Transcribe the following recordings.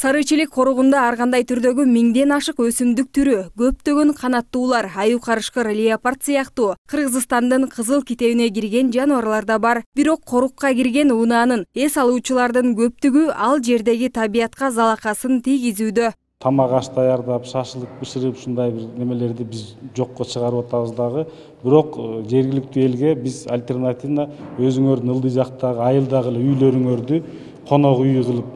Сарычелек коругунда ар кандай түрдөгү 1000ден ашык өсүмдүк түрү, көптөгөн канаттуулар, аю карышкыр, леопард сыяктуу Кыргызстандын кызыл китебине кирген жаныбарлар да бар. Бирок корукка кирген унаанын эс алуучулардын көптүгү ал жердеги табиятка залакасын тийгизүүдө. Тамак аш даярдап, шашылык бышырып, ушундай бир немелерди биз жокко чыгарып атабыз дагы. Бирок жергиликтүү элге биз альтернативно өзүңөрдүн ылдый жактагы айылдагы үйлөрүңөрдү конок үй кылып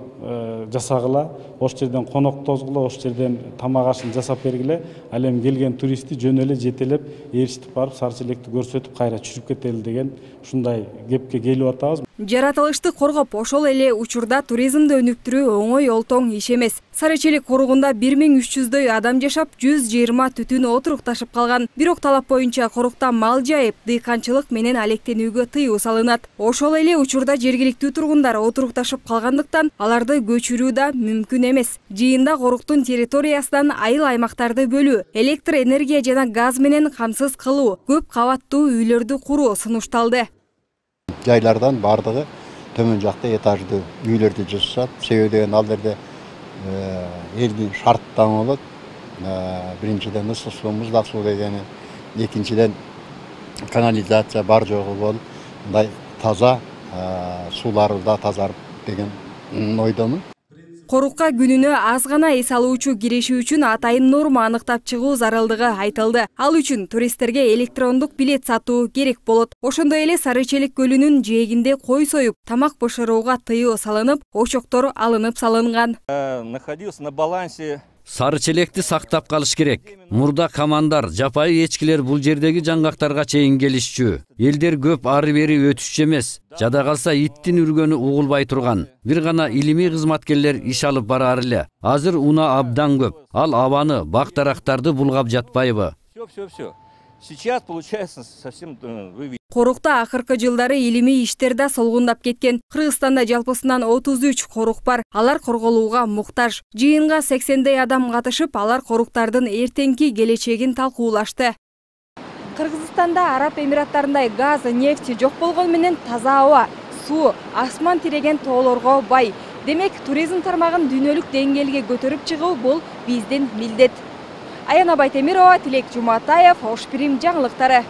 жасагыла, ошол жерден конок тозгула, ошол жерден тамак ашын жасап бергиле. Ал эми келген туристти жөн эле жетелеп, ээрчитип барып Сарычелекти көрсөтүп кайра чүрүп кетели деген ушундай кепке келип атабыз. Жаратылышты коргоп, ошол эле учурда туризмди өнүктүрүү оңой олтоң иш эмес. Сарычелек коругунда 1300дөй адам жашап, 120 түтүн отурукташып калган. Бирок талап боюнча корукта мал жайып, дыйканчылык менен алектенүүгө тыюу салынат. Ошол эле учурда жергиликтүү тургундар отурукташып калгандыктан аларды көчүрүү да мүмкүн эмес. Жыйында коруктун территориясынан айыл аймактарды бөлүү, электр энергия жана газ менен камсыз кылуу, көп кабаттуу үйлөрдү куруу сунушталды. Жайлардан бардыгы төмөн жакта этаждуу үйлөрдү жасашат. Себеби деген ал жерде элдин шарттамы болот. Биринчиден ысык суу, муздак суу дегени, экинчиден канализация бар жогу болуп, мындай таза суулары да тазарып деген ойдомун. Корукка күнүнө аз гана эс алуучу кириши үчүн атайын норма аныктап чыгуу зарылдыгы айтылды. Ал үчүн туристтерге электрондук билет сатуу керек болот. Ошондой эле Сарычелек көлүнүн жээгинде кой союп, тамак бышырууга тыюу салынып, очоктор алынып салынган. Находился на балансе. Сарычелекти сактап калыш керек. Мурда командар, жапайы эчкилер бул жердеги жаңгактарга чейин келишчү. Элдер көп ары-бери өтүшчү эмес. Жада калса иттин үргөнү угулбай турган. Бир гана илимий кызматкерлер иш алып барар эле. Азыр уна абдан көп. Ал абаны, бак-дарактарды булгап жатпайбы? Все. Сейчас получается совсем Корукта акыркы жылдары илимий иштер да солгундап кеткен. Кыргызстанда жалпысынан 33 корук бар. Алар корголууга муктаж. Жыйынга 80дей адам катышып, алар коруктардын эртеңки келечегин талкуулашты. Кыргызстанда Араб Эмираттарындай газ, нефть жок болгон менен таза аба, суу, асман тиреген тоолорго бай. Демек, туризм тармагын дүйнөлүк деңгээлге көтөрүп чыгуу бул биздин милдет. Аяна Байтемирова, Тилек Жуматаев, Ош Пирим жаңылыктары.